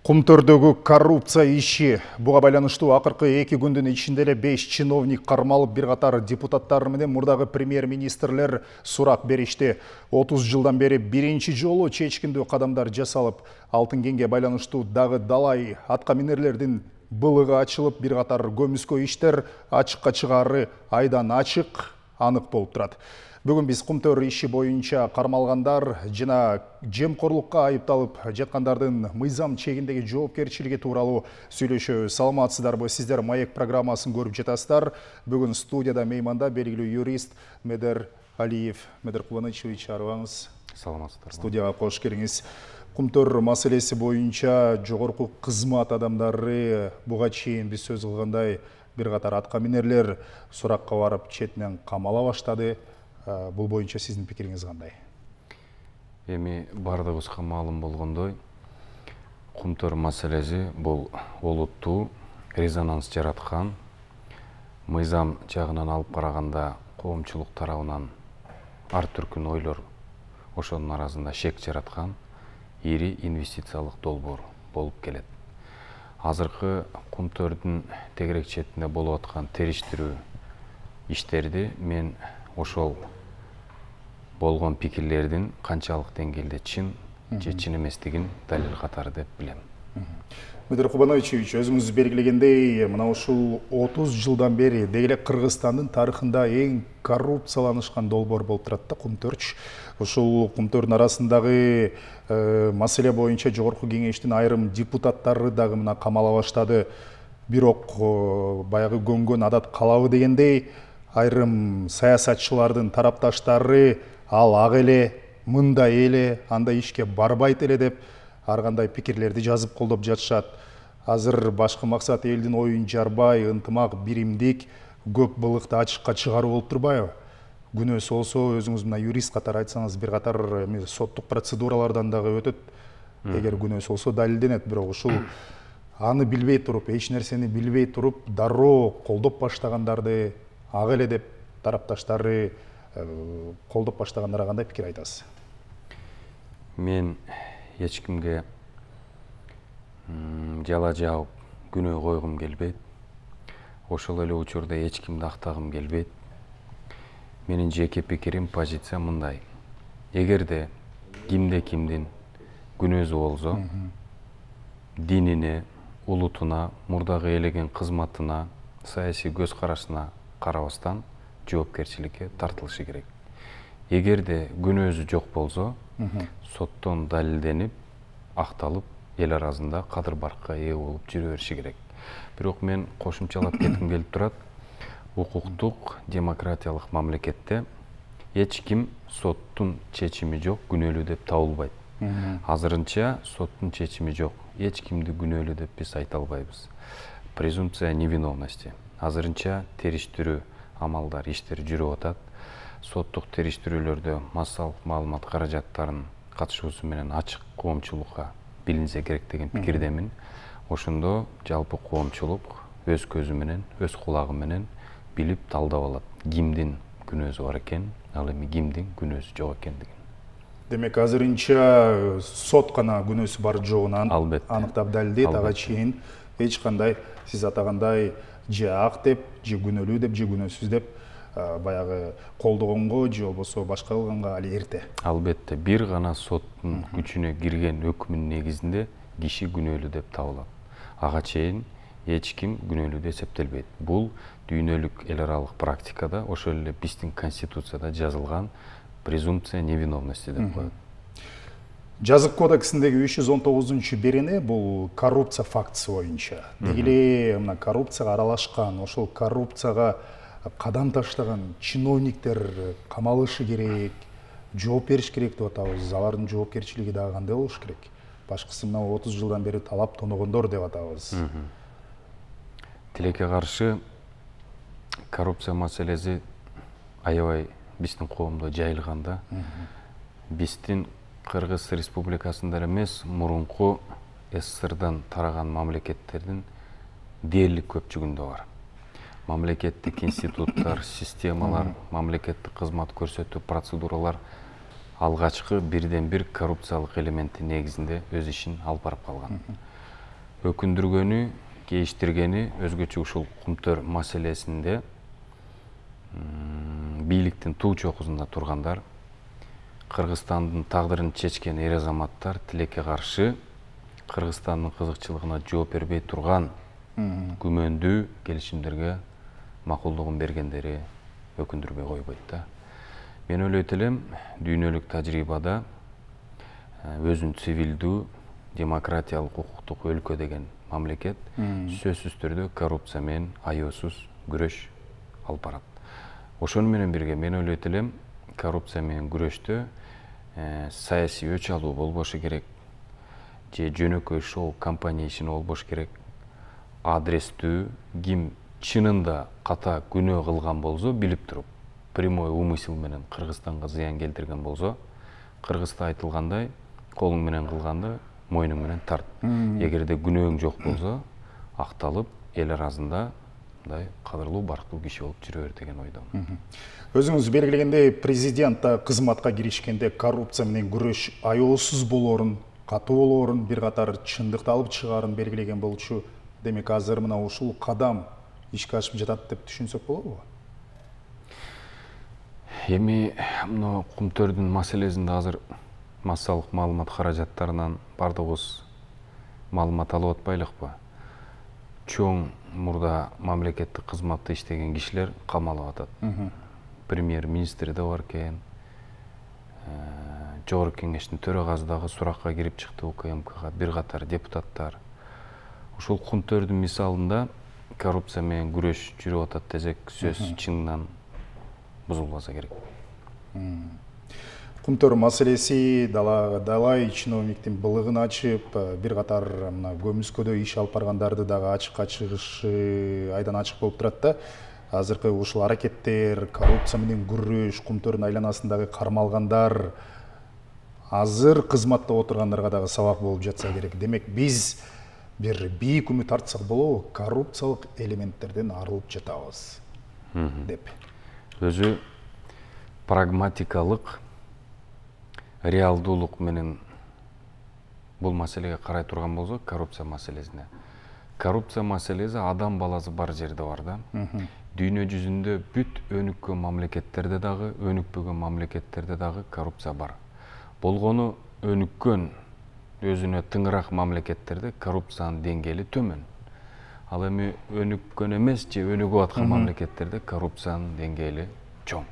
Кумтөрдөгү коррупция иши. Буга байланыштуу акыркы 2 күндүн ичинде эле 5 чиновник кармалып, бир катар депутаттар менен мурдагы премьер-министрлер сурак беришти. 30 жылдан бери биринчи жолу чечкиндүү кадамдар жасалып, Алтын кеңге байланыштуу дагы далай атка минерлердин былыгы ачылып, бир катар көмүскө иштер ачыкка чыгаары айдан ачык, анык болуп турат. Бүгүн биз Кумтөр иши боюнча кармалгандар жана жемкорлукка айыпталып жаткандардын мыйзам чегиндеги жоопкерчилиги тууралуу сүйлөшөбүз. Саламатсыздарбы? Сиздер Маек программасын көрүп жатасыздар. Бүгүн студияда мейманда белгилүү юрист Медер Алиев. Медер Кубанычевич, арыбаңыз. Саламатсыздарбы. Студияга кош келиңиз. Кумтөр маселеси боюнча жогорку кызмат адамдары буга чейин биз сөз кылгандай бир катар атка минерлер суракка барып четинен камала баштады. Бул боюнча сиздин пикириңиз кандай? Эми бардыгыбызга маалым болгондой, Кумтөр маселеси бул олуттуу резонанс жараткан, мыйзам жагынан алып караганда коомчулук тарабынан ар түркүн ойлор ошонун арасында шек жараткан ири инвестициялык долбоор болуп келет. Азыркы Кумтөрдүн тегерек четинде болуп аткан териштирүү иштерди мен ошол болгон пикирлердин канчалык деңгээлде чын же чын эместигин далил катары деп билем. Медер Кубанычевич, өзүңүз белгилегендей, мына ушул 30 жылдан бери деги эле Кыргызстандын тарыхында эң коррупцияланышкан долбоор болуп турат да Кумтөрчү. Ушул Кумтөрдүн арасындагы маселе боюнча жогорку кеңештин айрым депутаттары дагы мына камала баштады. Бирок баягы көнгөн адат калабы дегендей, айрым саясатчылардын тарапташтары ал ак эле, мындай эле, андай ишке барбайт эле деп ар кандай пикирлерди жазып колдоп жатышат. Азыр башкы максат элдин оюн жарбай, ынтымак, биримдик, көк былыкты ачыкка чыгаруу болуп турбайбы? Күнөөсү болсо, өзүңүз мына юрист катары айтсаңыз, бир катар соттук процедуралардан дагы өтөт. Эгер күнөөсү болсо далилденет, бирок ушул аны билбей туруп, эч нерсени билбей туруп, дароо колдоп баштагандарды ак эле деп тарапташтары колдоп баштагандарга кандай пикир айтасыз? Мен эч кимге жала жаап күнөө койгум келбейт. Ошол эле учурда эч кимди актагым келбейт. Менин жеке пикирим, позиция мындай. Эгерде кимдин күнөөсү болсо, динине, улутуна, мурдагы элеген кызматына, саясий көз карашына карабастан жоопкерчиликке тартылышы керек. Эгерде күнөөсү жок болсо, соттон далилденип, акталып, эл арасында кадыр баркка ээ болуп жүрө бериши керек. Бирок мен кошумчалап кетким келип турат. Укуктук, демократиялык мамлекетте эч ким соттун чечими жок, күнөөлүү деп табылбайт. Азырынча соттун чечими жок, эч кимди күнөөлүү деп биз айта албайбыз. Презумпция невиновности. Азырынча териштирүү амалдар, иштер жүрүп атат. Соттук териштирүүлөрдө массалык маалымат каражаттарын катышуусу менен ачык коомчулукка билинсе керек деген пикирдемин. Ошондо жалпы коомчулук өз көзү менен, өз кулагы менен билип талдап алат. Кимдин күнөөсү бар экен, ал эми кимдин күнөөсү жок экендигин. Демек, азырынча сот гана күнөөсү бар жогун аныктап далилдейт. Ага чейин эч кандай сиз атагандай же ак деп, же күнөөлүү деп, же күнөөсүз деп баягы колдогонго же болбосо башка кылганга али эрте. Албетте, бир гана соттун күчүнө кирген өкүмүнүн негизинде киши күнөөлүү деп табылат. Ага чейин эч ким күнөөлүү деп эсептелбейт. Бул дүйнөлүк эл аралык практикада, ошол эле биздин конституцияда жазылган презумпция невиновности деп коет. Жазык кодексиндеги 319-берене бул коррупция фактысы боюнча. Деги эле мына коррупцияга аралашкан, ошол коррупцияга кадам таштаган чиновниктер камалышы керек, жооп бериш керек деп атабыз. Алардын жоопкерчилиги дагы кандай болуш керек? Башкысы мына 30 жылдан бери талап тоногондор деп атабыз. Тилекке каршы коррупция маселеси аябай биздин коомдо жайылганда, биздин Кыргыз Республикасында эмес, мурунку СССРдан тараган мамлекеттердин дээрлик көпчүгүндө бар. Мамлекеттик институттар, системалар, мамлекеттик кызмат көрсөтүү процедуралар алгачкы бирден бир коррупциялык элементтин негизинде өз ишин алып барып калган. өкүндүргөнү, кейиштиргени өзгөчө ушул Кумтөр маселесинде бийликтин туу чокусунда тургандар, Кыргызстандын тагдырын чечкен эр азаматтар тилекке каршы Кыргызстандын кызыкчылыгына жооп бербей турган күмөндүү келишимдерге макулдугун бергендери өкүндүрбөй койбойт да. Мен ойлойт элем, дүйнөлүк тажрыйбада өзүн цивилдүү, демократиялык, укуктук өлкө деген мамлекет сөзсүз түрдө коррупция менен аяосуз күрөш алып барат. Ошону менен бирге мен ойлойт элем, коррупция менен күрөштө саясий өч алуу болбошу керек, же жөнөкөй шоу компания ишин болбош керек. Адрестүү, ким чынында ката күнөө кылган болсо, билип туруп, прямой умысел менен Кыргызстанга зыян келтирген болсо, Кыргызда айтылгандай, колуң менен кылганды мойнуң менен тарт. Эгерде күнөөң жок болсо, акталып, эл арасында мындай кадырлуу, барктуу киши болуп жүрө бер деген ойдомун. Өзүңүз белгилегендей, президент кызматка киришкенде коррупция менен күрөш аяосуз болоорун, катуу болоорун, бир катар чындыкты алып чыгаарын белгилеген болчу. Демек, азыр мына ушул кадам ишке ашып жатат деп түшүнсөк болобу? Эми мына Кумтөрдүн маселесинде азыр массалык маалымат каражаттарынан бардыгыбыз маалымат алып атпайлыкпы? Чоң мурда мамлекеттик кызматта иштеген кишилер камалып атат. Премьер-министр да бар экен, Жогорку кеңештин төрагасы дагы суракка кирип чыкты УКМКга, бир катар депутаттар. Ушул Кумтөрдүн мисалында коррупция менен күрөш жүрүп атат десек, сөз чынынан бузулбаса керек. Кумтөр маселеси далай чиновниктин былыгын ачып, бир катар мына көмүскөдө иш алып баргандарды дагы ачыкка чыгышы айдан ачык болуп турат да. Азыркы ушул аракеттер, коррупция менен күрөш, Кумтөрдүн айланасындагы кармалгандар азыр кызматта отургандарга дагы сабак болуп жатса керек. Демек, биз бир бийик үмүт артсак болобу, коррупциялык элементтерден арылып жатабыз деп. Өзү прагматикалык, реалдуулук менен бул маселеге карай турган болсок, коррупция маселесине. Коррупция маселеси адам баласы бар жерде бар да. Дүйнө жүзүндө бүт өнүккөн мамлекеттерде дагы, өнүкпөгөн мамлекеттерде дагы коррупция бар. Болгону өнүккөн, өзүнө тыңыраак мамлекеттерде коррупциянын деңгээли төмөн. Ал эми өнүккөн эмес же өнүгүп аткан мамлекеттерде коррупциянын деңгээли чоң.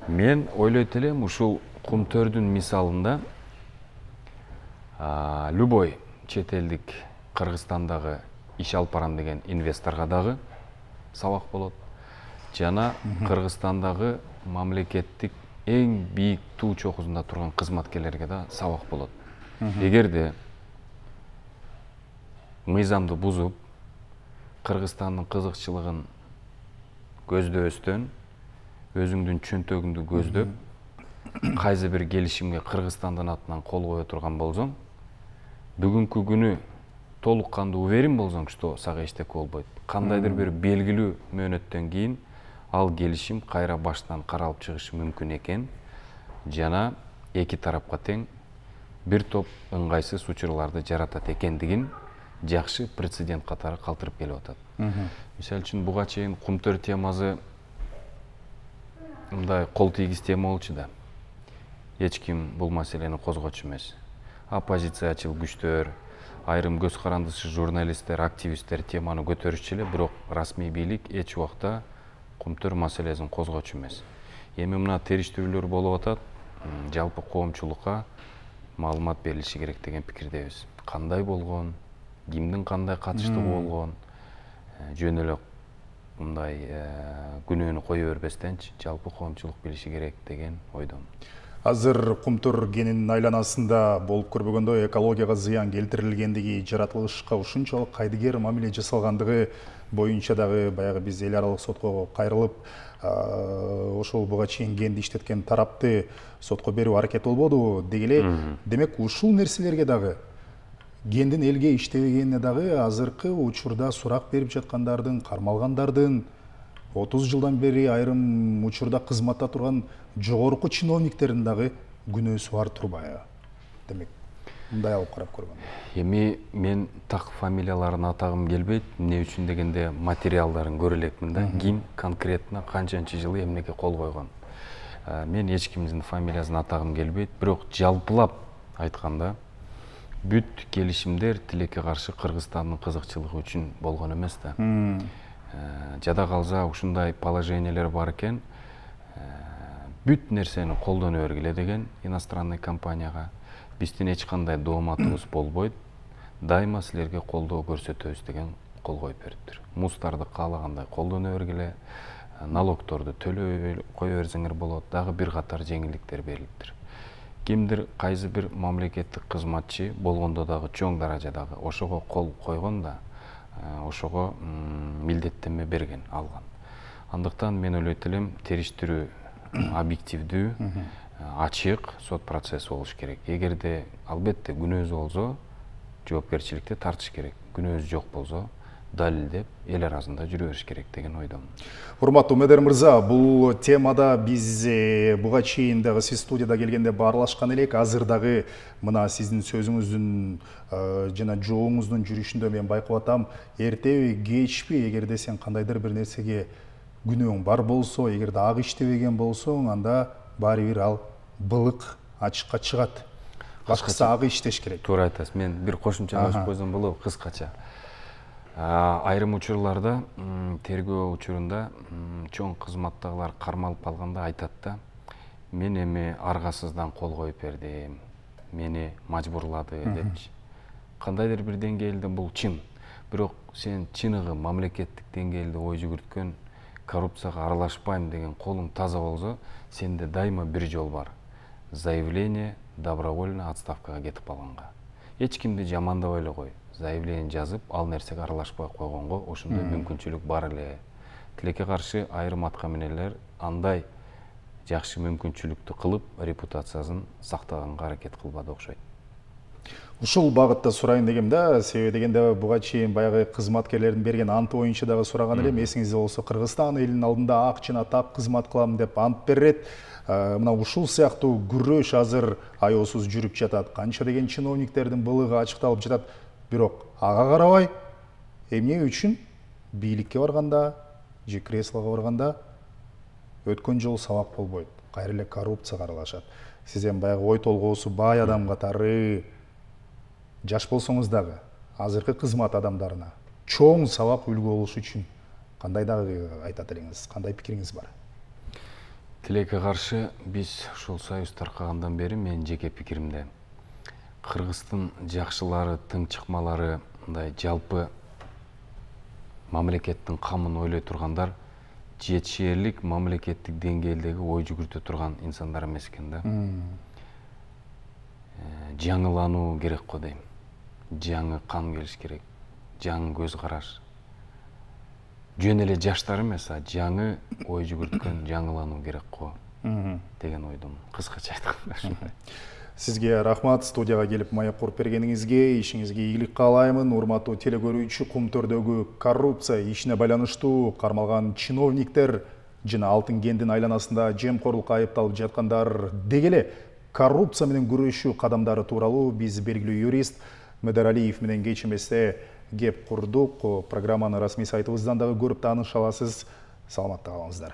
Мен ойлойт элем, ушул Кумтөрдүн мисалында любой чет элдик Кыргызстандагы иш алып барам деген инвесторго дагы сабак болот. Жана Кыргызстандагы мамлекеттик эң бийик туу чокусунда турган кызматкерлерге да сабак болот. Эгерде мыйзамды бузуп, Кыргызстандын кызыкчылыгын көздөбөстөн, өзүңдүн чөнтөгүңдү көздөп, кайсы бир келишимге Кыргызстандын атынан кол кое турган болсоң, бүгүнкү күнү толук кандуу уверен болсоң, что сага эчтеке болбойт. Кандайдыр бир белгилүү мөөнөттөн кийин ал келишим кайра баштан каралып чыгышы мүмкүн экен. Жана эки тарапка тең бир топ ыңгайсыз учурларды жаратат экендигин жакшы прецедент катары калтырып келип атат. Мисалы үчүн буга чейин Кумтөр темасы мындай кол тийгиз тема болчу да. Эч ким бул маселени козгочу эмес. Оппозициячыл күчтөр, айрым көз карандысы журналисттер, активисттер теманы көтөрүшчү эле, бирок расмий бийлик эч убакта Кумтөр маселесин козгочу эмес. Эми мына териштирүүлөр болуп атат, жалпы коомчулукка маалымат берилиши керек деген пикирдебиз. Кандай болгон, кимдин кандай катыштыгы болгон, жөн эле мындай күнөөнү кое бербестенчи жалпы коомчулук билиши керек деген ойдомун. Азыр Кумтөр кенинин айланасында болуп көрбөгөндөй экологияга зыян келтирилгендиги, жаратылышка ушунчалык кайдыгер мамиле жасалгандыгы боюнча дагы баягы биз эл аралык сотко кайрылып, ошол буга чейин кенди иштеткен тарапты сотко берүү аракет болбодубу деги эле. Демек, ушул нерселерге дагы, кендин элге иштебегенине дагы азыркы учурда сурак берип жаткандардын, кармалгандардын, 30 жылдан бери айрым учурда кызматта турган жогорку чиновниктердин дагы күнөөсү бар турбайбы? Демек, мындай алып карап көргөндө? Эми мен так фамилияларын атагым келбейт. Эмне үчүн дегенде материалдарын көрө элекмин да. Ким конкретно канчанчы жылы эмнеге кол койгон. Мен эч кимдин фамилиясын атагым келбейт, бирок жалпылап айтканда бүт келишимдер тилекке каршы Кыргызстандын кызыкчылыгы үчүн болгон эмес да. Жада калса ушундай положениялер бар экен, бүт нерсени колдоно бергиле деген иностранный компанияга биздин эч кандай дооматыбыз болбойт, дайыма силерге колдоо көрсөтөбүз деген кол коюп бериптир. Муздарды каалагандай колдоно бергиле, налогторду төлөй кое берсеңер болот, дагы бир катар жеңилдиктер берилиптир. Кимдир кайсы бир мамлекеттик кызматчы болгондо дагы чоң даражадагы ошого кол койгон да, ошого милдеттенме берген, алган. Андыктан мен ойлойт элем, териштирүү объективдүү, ачык сот процесси болуш керек. Эгерде албетте күнөөсү болсо, жоопкерчиликти тартыш керек. Күнөөсү жок болсо, далилдеп эл арасында жүрө бериш керек деген ойдомун. Урматтуу Медер мырза, бул темада биз буга чейин дагы сиз студияда келгенде баарлашкан элек. Азыр дагы мына сиздин сөзүңүздүн жана жообуңуздун жүрүшүндө мен байкап атам, эртеби кечпи эгерде сен кандайдыр бир нерсеге күнөөң бар болсо, эгерде ак иштебеген болсоң, анда баары бир ал былык ачыкка чыгат. Башкысы ак иштеш керек. Туура айтасыз. Мен бир кошумча кошуп койсом болобу, кыскача. Айрым учурларда, тергөө учурунда чоң кызматтагылар кармалып калганда айтат да, мен эми аргасыздан кол коюп бердим, мени мажбурлады депчи. Кандайдыр бир деңгээлде бул чын. Бирок сен чыныгы мамлекеттик деңгээлде ой жүгүрткөн, коррупцияга аралашпайм деген колуң таза болсо, сенде дайыма бир жол бар. Заявление добровольно отставкага кетип калганга. Эч кимди жамандабай эле кой. Заявление жазып, ал нерсеге аралашпай койгонго ошондой мүмкүнчүлүк бар эле. Тилекке каршы айрым аткаминерлер андай жакшы мүмкүнчүлүктү кылып, репутациясын сактаганга аракет кылбады окшойт. Ушул багытта сурайын дегем да, себеби дегенде буга чейин баягы кызматкерлердин берген анты боюнча дагы сураган элем. Эсиңизде болсо, Кыргызстан элинин алдында ак жана тап кызмат кылам деп ант берет. Мына ушул сыяктуу күрөш азыр аеосуз жүрүп жатат. Канча деген чиновниктердин былыгы ачыкталып жатат. Бирок ага карабай, эмне үчүн бийликке барганда, же креслого барганда өткөн жолу сабак болбойт, кайра эле коррупцияга аралашат. Сиз эми баягы ой толгоосу бай адам катары жаш болсоңуз дагы азыркы кызмат адамдарына чоң сабак үлгү болуш үчүн кандай дагы айтат элеңиз, кандай пикириңиз бар? Тилекке каршы биз ушул союз таркагандан бери менин жеке пикиримде Кыргыздын жакшылары, тыңчыкмалары, мындай жалпы мамлекеттин камын ойлой тургандар жетишээрлик мамлекеттик деңгээлдеги ой жүгүртө турган инсандар эмес экен да. Жаңылануу керек го дейм. Жаңы кан келиш керек, жаңы көз караш. Жөн эле жаштар эмес, жаңы ой жүгүрткөн жаңылануу керек го деген ойдомун. Кыскача айтканда ушундай. Сизге рахмат, студияга келип маек куруп бергениңизге, ишиңизге ийгилик каалаймын. Урматтуу телекөрүүчү, Кум төрдөгү коррупция ишине байланыштуу кармалган чиновниктер жана Алтын кендин айланасында жемкорлукка айыпталып жаткандар деги эле коррупция менен күрөшүү кадамдары тууралуу биз белгилүү юрист Медер Алиев менен кеч эместе кеп курдук. Программаны расмий сайтыбыздан дагы көрүп тааныша аласыз. Саламатта калыңыздар.